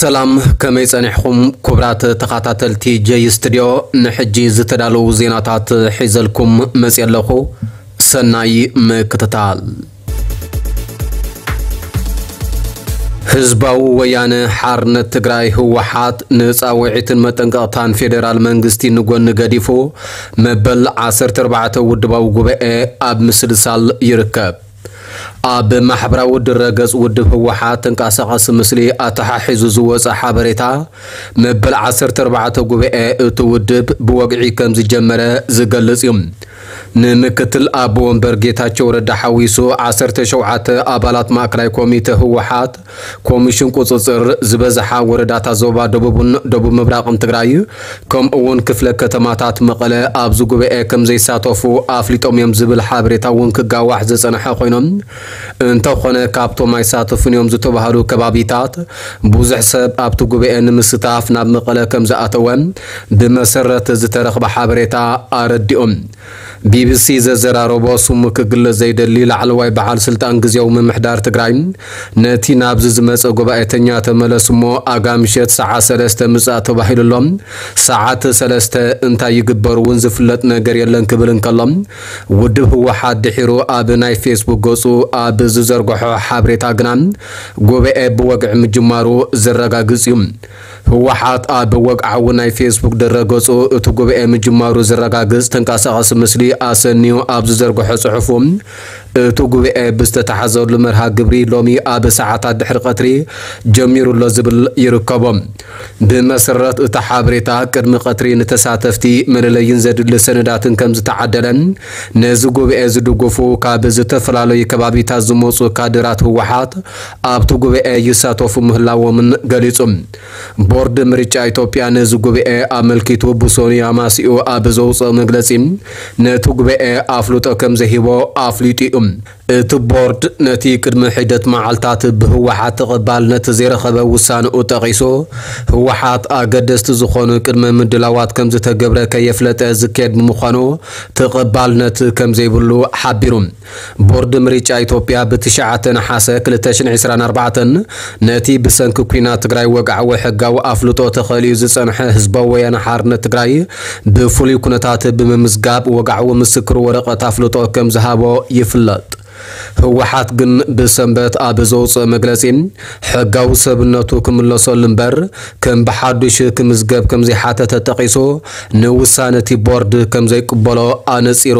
ሰላም፣ ከመይ ጸኒሕኹም ክቡራት ተኸታተልቲ ጀይ ስቱድዮ? ንሕጂ ዝተዳለዉ ዜናታት ሒዘልኩም መጽየ ኣለኹ። ሰናይ ምክትታል። ህዝባዊ ወያነ ሓርነት ትግራይ ህወሓት ንጻውዒትን መጠንቀቕታን ፌደራል መንግስቲ ንጎኒ ገዲፉ፣ መበል ዓሰርተ ኣርባዕተ ውድባዊ ጉባኤ ኣብ ምስልሳል ይርከብ። ኣብ ማሕበራዊ ድረገጽ ውድብ ህወሓት ተንቀሳቓሲ ምስሊ ኣተሓሒዙ ዝወጸ ሓበሬታ፣ መበል ዓሰርተ ኣርባዕተ ጉባኤ እቲ ውድብ ብወግዒ ከም ዝጀመረ ዝገልጽ እዩ። ንምክትል ኣቦ ወንበር ጌታቸው ረዳ ሓዊሱ ዓሰርተ ሸውዓተ ኣባላት ማእከላይ ኮሚተ ህወሓት፣ ኮሚሽን ቁጽጽር ዝበዝሓ ወረዳታት ዞባ ደቡብን ደቡብ ምብራቕን ትግራይ፣ ከምኡ እውን ክፍለ ከተማታት መቐለ ኣብዚ ጉባኤ ከም ዘይሳተፉ ኣፍሊጦም እዮም ዝብል ሓበሬታ እውን ክጋዋሕ ዝጸንሐ ኮይኖም፣ እንተኾነ ካብቶም ኣይሳተፉን እዮም ዝተባህሉ ከባቢታት ብዙሕ ሰብ ኣብቲ ጉባኤ ንምስታፍ ናብ መቐለ ከም ዝኣተወ ብመሰረት ዝተረኽበ ሓበሬታ ኣረዲኦም። ቢቢሲ ዘዘራረቦ ስሙ ክግለጽ ዘይደሊ ላዕለዋይ በዓል ስልጣን ግዜያዊ ምምሕዳር ትግራይ፣ ነቲ ናብዚ ዝመጸ ጉባኤተኛ ተመለስ እሞ ኣጋ ምሸት ሰዓት ሰለስተ ምጻእ ተባሂሉ ኣሎ። ሰዓት ሰለስተ እንታይ ይግበር እውን ዝፍለጥ ነገር የለን ክብል እንከሎ፣ ውድብ ህወሓት ድሒሩ ኣብ ናይ ፌስቡክ ገጹ ኣብ ዝዘርግሖ ሓበሬታ ግና፣ ጉባኤ ብወግዒ ምጅማሩ ዘረጋግጽ እዩ። ህወሓት ኣብ ወግዓዊ ናይ ፌስቡክ ድረገጹ እቲ ጉባኤ ምጅማሩ ዘረጋግጽ ተንቀሳቓሲ ምስሊ ኣሰንዩ ኣብ ዝዘርግሖ ጽሑፉ፣ እቲ ጉባኤ ብዝተታሕዘሉ መርሃ ግብሪ ሎሚ ኣብ ሰዓታት ድሕሪ ቀትሪ ጀሚሩ ኣሎ ዝብል ይርከቦ። ብመሰረት እቲ ሓበሬታ፣ ቅድሚ ቀትሪ ንተሳተፍቲ መለለይን ዘድሊ ሰነዳትን ከም ዝተዓደለ፣ ነዚ ጉባኤ ዝድግፉ ካብ ዝተፈላለዩ ከባቢታት ዝመጹ ካድራት ህወሓት ኣብቲ ጉባኤ ይሳተፉ ምህላዎምን ገሊጹ። ቦርድ ምርጫ ኢትዮጵያ ነዚ ጉባኤ ኣመልኪቱ ብሰኑይ ኣማሲኡ ኣብ ዘውፅኦ መግለጺ፣ ነቲ ጉባኤ ኣፍልጦ ከም ዘሂቦ ኣፍሊጡ እዩ። እቲ ቦርድ ነቲ ቅድሚ ሒደት መዓልታት ብህወሓት ተቐባልነት ዘይረኸበ ውሳንኡ ጠቒሱ፣ ህወሓት ኣገደስቲ ዝኾኑ ቅድመ ምድላዋት ከም ዝተገብረ ከየፍለጠ ዝካየድ ብምዃኑ ተቐባልነት ከም ዘይብሉ ሓቢሩ። ቦርድ ምርጫ ኢትዮጵያ ብትሽዓተ ነሓሰ ክልተ ሽሕን ዕስራን ኣርባዕተን ነቲ ብሰንኪ ኲናት ትግራይ ወግዓዊ ሕጋዊ ኣፍልጦ ተኸሊኡ ዝጸንሐ ህዝባዊ ወያነ ሓርነት ትግራይ ብፍሉይ ኩነታት ብምምዝጋብ ወግዓዊ ምስክር ወረቐት ኣፍልጦ ከም ዝሃቦ ይፍለጥ። ህወሓት ግን ብሰንበት ኣብ ዘውፅኦ መግለፂ፣ ሕጋዊ ሰብነቱ ክምለሰሉ እምበር ከም ብሓዱሽ ክምዝገብ ከም ዘይሓተተ ጠቒሱ፣ ንውሳነ እቲ ቦርድ ከም ዘይቅበሎ ኣነፂሩ።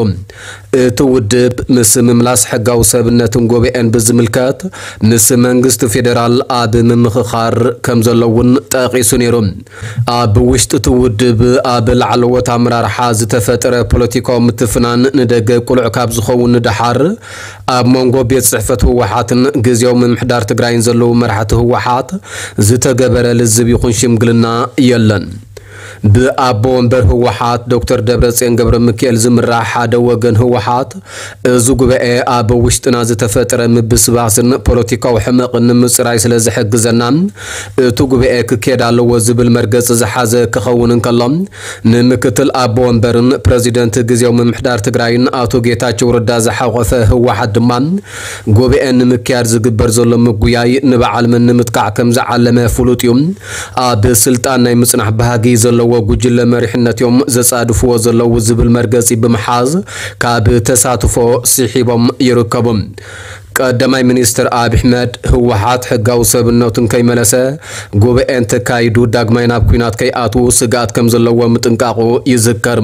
እቲ ውድብ ምስ ምምላስ ሕጋዊ ሰብነትን ጉባኤን ብዝምልከት ምስ መንግስቲ ፌደራል ኣብ ምምኽኻር ከም ዘሎ እውን ጠቒሱ ነይሩ። ኣብ ውሽጢ እቲ ውድብ ኣብ ላዕለዎት ኣመራርሓ ዝተፈጠረ ፖለቲካዊ ምትፍናን ንደገ ቅሉዕ ካብ ዝኸውን ንደሓር፣ ኣብ መንጎ ቤት ጽሕፈት ህወሓትን ግዜያዊ ምምሕዳር ትግራይን ዘለዉ መራሕቲ ህወሓት ዝተገበረ ልዝብ ይኹን ሽምግልና የለን። ብኣቦ ወንበር ህወሓት ዶክተር ደብረጽዮን ገብረ ሚካኤል ዝምራሕ ሓደ ወገን ህወሓት፣ እዚ ጉባኤ ኣብ ውሽጥና ዝተፈጠረ ምብስባስን ፖለቲካዊ ሕመቕን ንምጽራይ ስለ ዝሕግዘና፣ እቲ ጉባኤ ክካየድ ኣለዎ ዝብል መርገጺ ዝሓዘ ክኸውን እንከሎ፣ ንምክትል ኣቦ ወንበርን ፕረዚደንት ግዜያዊ ምምሕዳር ትግራይን ኣቶ ጌታቸው ረዳ ዝሓቖፈ ህወሓት ድማ፣ ጉባኤ ንምክያድ ዝግበር ዘሎ ምጉያይ ንበዓል መን ንምጥቃዕ ከም ዝዓለመ ፍሉጥ እዩ። ኣብ ስልጣን ናይ ምጽናሕ ባህጊ ዘለዎ ጉጅለ መሪሕነት እዮም ዘጻድፍዎ ዘለዉ ዝብል መርገጺ ብምሓዝ፣ ካብ ተሳትፎ ስሒቦም ይርከቡ። ቀዳማይ ሚኒስትር ኣብይ ኣሕመድ፣ ህወሓት ሕጋዊ ሰብነቱን ከይመለሰ ጉባኤ እንተካይዱ ዳግማይ ናብ ኲናት ከይኣትዉ ስግኣት ከም ዘለዎ ምጥንቃቑ ይዝከር።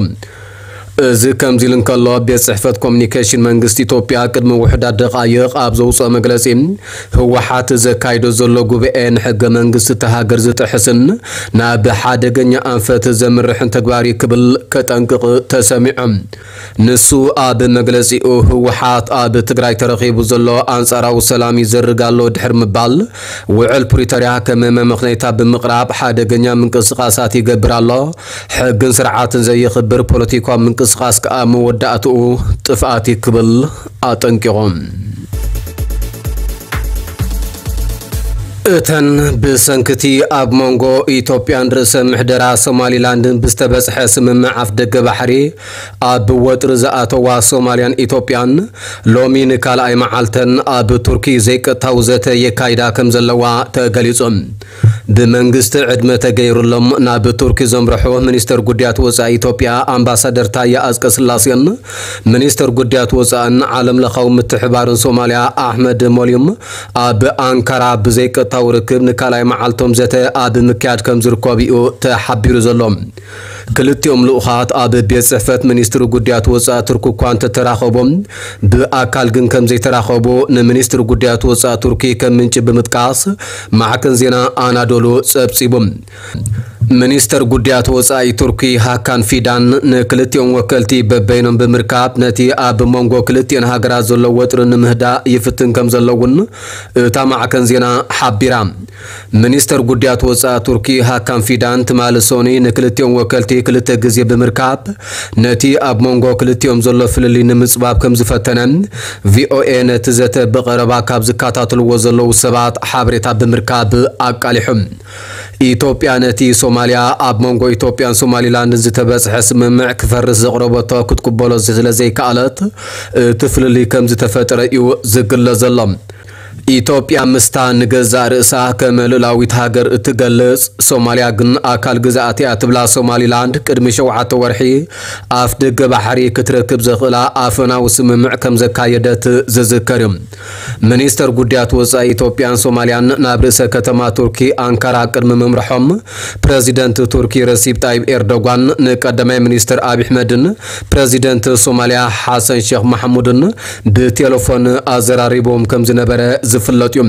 እዚ ከምዚ ኢሉ እንከሎ፣ ቤት ጽሕፈት ኮሚኒኬሽን መንግስቲ ኢትዮጵያ ቅድሚ ውሑዳት ደቓይቕ ኣብ ዘውጽኦ መግለጺ፣ ህወሓት ዘካይዶ ዘሎ ጉባኤ ንሕገ መንግስቲ እታ ሃገር ዝጥሕስን ናብ ሓደገኛ ኣንፈት ዘምርሕን ተግባር እዩ ክብል ከጠንቅቕ ተሰሚዑ። ንሱ ኣብ መግለጺኡ፣ ህወሓት ኣብ ትግራይ ተረኺቡ ዘሎ ኣንጻራዊ ሰላም ይዘርግ ኣሎ ድሕሪ ምባል፣ ውዕል ፕሪቶርያ ከም መመኽነይታ ብምቕራብ ሓደገኛ ምንቅስቓሳት ይገብር ኣሎ። ሕግን ስርዓትን ዘየኽብር ፖለቲካዊ ምንቅስቓስ ከኣ መወዳእትኡ ጥፍኣት እዩ ክብል ኣጠንቂቑ። እተን ብሰንክቲ ኣብ መንጎ ኢትዮጵያን ርእሰ ምሕደራ ሶማሊላንድን ብዝተበጽሐ ስምምዕ ኣፍደገ ባሕሪ ኣብ ወጥሪ ዝኣተዋ ሶማልያን ኢትዮጵያን፣ ሎሚ ንካልኣይ መዓልተን ኣብ ቱርኪ ዘይቀጥታዊ ዘተ የካይዳ ከም ዘለዋ ተገሊጹ። ብመንግስቲ ዕድመ ተገይሩሎም ናብ ቱርኪ ዘምርሑ ሚኒስተር ጉዳያት ወጻኢ ኢትዮጵያ ኣምባሳደር ታየ ኣጽቀስላሴን ሚኒስተር ጉዳያት ወጻእን ዓለም ለኻዊ ምትሕባርን ሶማልያ ኣሕመድ ሞሊም ኣብ ኣንካራ ብዘይቀጥታዊ ርክብ ንካልኣይ መዓልቶም ዘተ ኣብ ምክያድ ከም ዝርከቡ እዩ ተሓቢሩ ዘሎ። ክልቲኦም ልኡኻት ኣብ ቤት ጽሕፈት ሚኒስትሪ ጉዳያት ወጻኢ ቱርኪ እኳ እንተተራኸቡ፣ ብኣካል ግን ከም ዘይተራኸቡ ንሚኒስትሪ ጉዳያት ወጻኢ ቱርኪ ከም ምንጪ ብምጥቃስ ማዕከን ዜና ኣናዶሉ ጸብጺቡ። ሚኒስተር ጉዳያት ወጻኢ ቱርኪ ሃካን ፊዳን ንክልቲኦም ወከልቲ በበይኖም ብምርካብ ነቲ ኣብ መንጎ ክልቲኦን ሃገራት ዘሎ ወጥሪ ንምህዳእ ይፍትን ከም ዘሎ እውን እታ ማዕከን ዜና ሓቢራ። ሚኒስተር ጉዳያት ወጻኢ ቱርኪ ሃካን ፊዳን ትማሊ ሶኒ ንክልቲኦም ወከልቲ ክልተ ግዜ ብምርካብ ነቲ ኣብ መንጎ ክልቲኦም ዘሎ ፍልልይ ንምጽባብ ከም ዝፈተነ ቪኦኤ ነቲ ዘተ ብቐረባ ካብ ዝከታተልዎ ዘለዉ ሰባት ሓበሬታ ብምርካብ ኣቃሊሑ። ኢትዮጵያ ነቲ ሶማልያ ኣብ መንጎ ኢትዮጵያን ሶማሊላንድን ዝተበጽሐ ስምምዕ ክፈርስ ዘቕረበቶ ክትቅበሎ ስለ ዘይከኣለት እቲ ፍልልይ ከም ዝተፈጠረ እዩ ዝግለጽ ዘሎ። ኢትዮጵያ ምስታ ንገዛእ ርእሳ ከም ልኡላዊት ሃገር እትገልጽ ሶማልያ ግን ኣካል ግዝኣት እያ ትብላ ሶማሊላንድ ቅድሚ ሸውዓተ ወርሒ ኣፍ ደገ ባሕሪ ክትረክብ ዘኽእላ ኣፈናዊ ስምምዕ ከም ዘካየደት ዝዝከር እዩ። ሚኒስተር ጉዳያት ወጻኢ ኢትዮጵያን ሶማልያን ናብ ርእሰ ከተማ ቱርኪ ኣንካራ ቅድሚ ምምርሖም ፕረዚደንት ቱርኪ ረሲብ ጣይብ ኤርዶጓን ንቀዳማይ ሚኒስተር ኣብይ ኣሕመድን ፕረዚደንት ሶማልያ ሓሰን ሼክ ማሕሙድን ብቴሌፎን ኣዘራሪቦም ከም ዝነበረ ዝፍለጥ እዩ።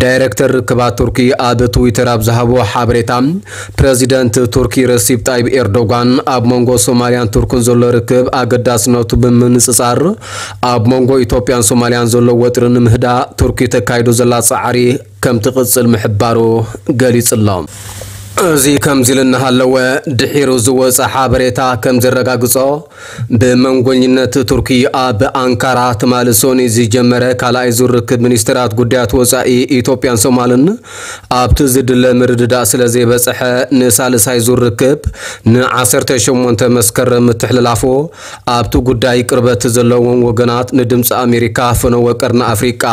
ዳይሬክተር ርክባት ቱርኪ ኣብ ትዊተር ኣብ ዝሃቦ ሓበሬታ፣ ፕረዚደንት ቱርኪ ረሲብ ጣይብ ኤርዶጋን ኣብ መንጎ ሶማልያን ቱርክን ዘሎ ርክብ ኣገዳስነቱ ብምንጽጻር፣ ኣብ መንጎ ኢትዮጵያን ሶማልያን ዘሎ ወጥሪ ንምህዳእ ቱርኪ ተካይዶ ዘላ ጻዕሪ ከም ትቕጽል ምሕባሩ ገሊጹ ኣሎ። እዚ ከምዚ ኢሉ እናሃለወ፣ ድሒሩ ዝወጸ ሓበሬታ ከም ዘረጋግጾ፣ ብመንጎኝነት ቱርኪ ኣብ ኣንካራ ትማሊ ሶኒ ዝጀመረ ካልኣይ ዙር ርክብ ሚኒስትራት ጉዳያት ወጻኢ ኢትዮጵያን ሶማልን ኣብቲ ዝድለ ምርድዳእ ስለ ዘይበጽሐ፣ ንሳልሳይ ዙር ርክብ ንዓሰርተ ሸሞንተ መስከረም ምትሕልላፉ ኣብቲ ጉዳይ ቅርበት ዘለዎም ወገናት ንድምፂ ኣሜሪካ ፈነወ ቀርኒ ኣፍሪቃ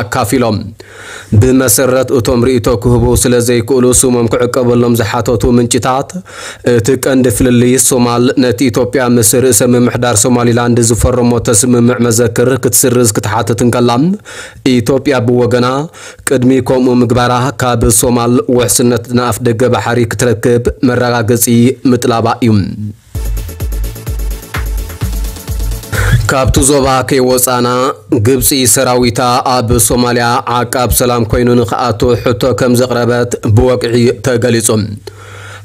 ኣካፊሎም። ብመሰረት እቶም ርእይቶ ክህቡ ስለ ዘይክእሉ ስሞም ክዕቀበሎም ዝሓተቱ ምንጭታት፣ እቲ ቀንዲ ፍልልይ ሶማል ነቲ ኢትዮጵያ ምስ ርእሰ ምምሕዳር ሶማሊላንድ ዝፈረሞቶ ስምምዕ መዘክር ክትስርዝ ክትሓትት እንከላ፣ ኢትዮጵያ ብወገና ቅድሚ ከምኡ ምግባራ ካብ ሶማል ውሕስነት ንኣፍ ደገ ባሕሪ ክትረክብ መረጋገጺ ምጥላባ እዩ። ካብቲ ዞባ ከይወጻና፣ ግብጺ ሰራዊታ ኣብ ሶማልያ ዓቃብ ሰላም ኮይኑ ንኽኣቱ ሕቶ ከም ዘቕረበት ብወግዒ ተገሊጹ።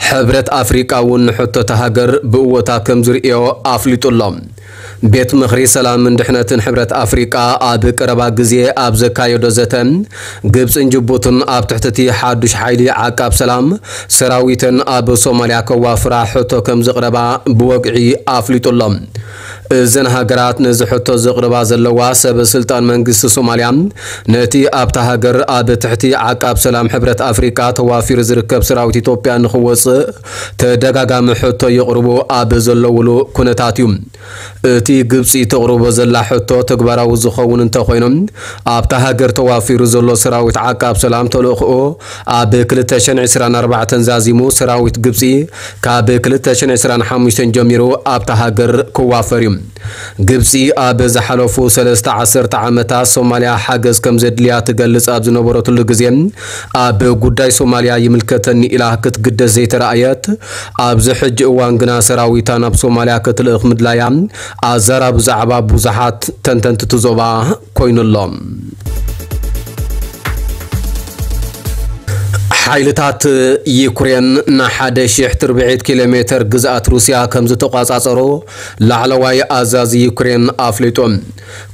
ሕብረት ኣፍሪቃ እውን ንሕቶ እታ ሃገር ብእወታ ከም ዝርእዮ ኣፍሊጡ ኣሎ። ቤት ምኽሪ ሰላምን ድሕነትን ሕብረት ኣፍሪቃ ኣብ ቀረባ ግዜ ኣብ ዘካየዶ ዘተ፣ ግብጽን ጅቡትን ኣብ ትሕቲ እቲ ሓዱሽ ሓይሊ ዓቃብ ሰላም ሰራዊተን ኣብ ሶማልያ ከዋፍራ ሕቶ ከም ዘቕረባ ብወግዒ ኣፍሊጡ ኣሎ። እዘን ሃገራት ነዚ ሕቶ ዘቕርባ ዘለዋ፣ ሰብ ስልጣን መንግስቲ ሶማልያ ነቲ ኣብታ ሃገር ኣብ ትሕቲ ዓቃብ ሰላም ሕብረት ኣፍሪቃ ተዋፊሩ ዝርከብ ሰራዊት ኢትዮጵያ ንኽወጽእ ተደጋጋሚ ሕቶ የቕርቡ ኣብ ዘለውሉ ኩነታት እዩ። እቲ ግብጺ ተቕርቦ ዘላ ሕቶ ተግባራዊ ዝኸውን እንተኾይኑ፣ ኣብታ ሃገር ተዋፊሩ ዘሎ ሰራዊት ዓቃብ ሰላም ተልእኽኡ ኣብ ክልተ ሽሕን ዕስራን ኣርባዕተን ዛዚሙ፣ ሰራዊት ግብጺ ካብ ክልተ ሽሕን ዕስራን ሓሙሽተን ጀሚሩ ኣብታ ሃገር ክዋፈር እዩ። ግብጺ ኣብ ዝሓለፉ ሰለስተ ዓሰርተ ዓመታት ሶማልያ ሓገዝ ከም ዘድልያ ትገልጽ ኣብ ዝነበረትሉ ግዜ፣ ኣብ ጉዳይ ሶማልያ ይምልከተኒ ኢላ ክትግደስ ዘይተራእየት፣ ኣብዚ ሕጂ እዋን ግና ሰራዊታ ናብ ሶማልያ ክትልእኽ ምድላያ ኣዛራቢ ዛዕባ ብዙሓት ተንተንቲ እቲ ዞባ ኮይኑ ኣሎ። ሓይልታት ዩክሬን ንሓደ ሺሕ ትርብዒት ኪሎ ሜተር ግዝኣት ሩስያ ከም ዝተቋጻጸሮ ላዕለዋይ ኣዛዚ ዩክሬን ኣፍሊጡ።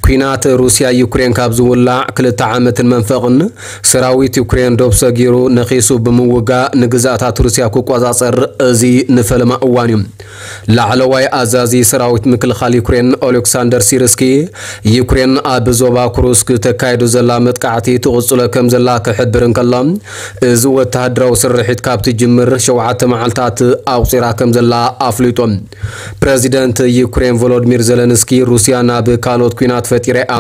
ኲናት ሩስያ ዩክሬን ካብ ዝውላዕ ክልተ ዓመትን መንፈቕን፣ ሰራዊት ዩክሬን ዶብ ሰጊሩ ነኺሱ ብምውጋእ ንግዝኣታት ሩስያ ክቆጻጸር እዚ ንፈለማ እዋን እዩ። ላዕለዋይ ኣዛዚ ሰራዊት ምክልኻል ዩክሬን ኦሌክሳንደር ሲርስኪ፣ ዩክሬን ኣብ ዞባ ኩሩስክ ተካይዶ ዘላ መጥቃዕቲ ትቕጽሎ ከም ዘላ ክሕብር እንከሎ፣ እዚ ወተሃደራዊ ስርሒት ካብ ትጅምር ሸውዓተ መዓልታት ኣቑጺራ ከም ዘላ ኣፍሊጡ። ፕረዚደንት ዩክሬን ቮሎዲሚር ዘለንስኪ፣ ሩስያ ናብ ካልኦት ኲናት ፈጢራ እያ፣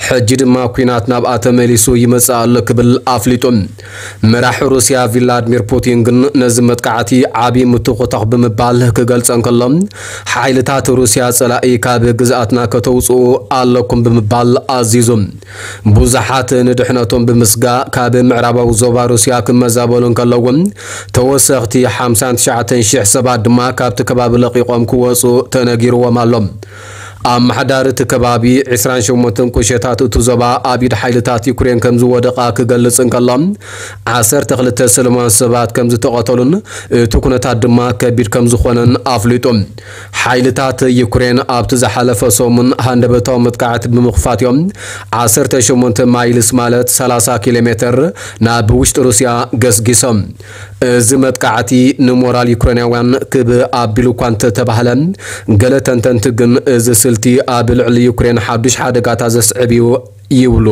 ሕጂ ድማ ኲናት ናብኣ ተመሊሱ ይመጽእ ኣሎ ክብል ኣፍሊጡ። መራሒ ሩስያ ቪላድሚር ፑቲን ግን ነዚ መጥቃዕቲ ዓቢ ምትኹታኽ ብምባል ክገልጸ እንከሎ፣ ሓይልታት ሩስያ ጸላኢ ካብ ግዝኣትና ከተውጽኡ ኣለኩም ብምባል ኣዚዙ። ብዙሓት ንድሕነቶም ብምስጋእ ካብ ምዕራባዊ ዞባ ሩስያ ክመዛበሉ እንከለዉ፣ ተወሰኽቲ ሓምሳን ትሽዓተን ሽሕ ሰባት ድማ ካብቲ ከባቢ ለቒቖም ክወጹ ተነጊርዎም ኣሎ። ኣመሓዳሪ እቲ ከባቢ፣ ዕስራን ሸሞንተን ቁሸታት እቲ ዞባ ኣብ ኢድ ሓይልታት ዩክሬን ከም ዝወደቓ ክገልጽ እንከሎ፣ ዓሰርተ ክልተ ሰላማውያን ሰባት ከም ዝተቐተሉን እቲ ኩነታት ድማ ከቢድ ከም ዝኾነን ኣፍሊጡ። ሓይልታት ዩክሬን ኣብቲ ዝሓለፈ ሰሙን ሃንደበታዊ መጥቃዕቲ ብምኽፋት እዮም ዓሰርተ ሸሞንተ ማይልስ፣ ማለት ሰላሳ ኪሎ ሜተር፣ ናብ ውሽጢ ሩስያ ገስጊሶም። እዚ መጥቃዕቲ ንሞራል ዩክሬናውያን ክብ ኣቢሉ እኳ እንተተባህለ፣ ገለ ተንተንቲ ግን እዚ ስልቲ ኣብ ልዕሊ ዩክሬን ሓዱሽ ሓደጋታት ዘስዕብ እዩ ይብሉ።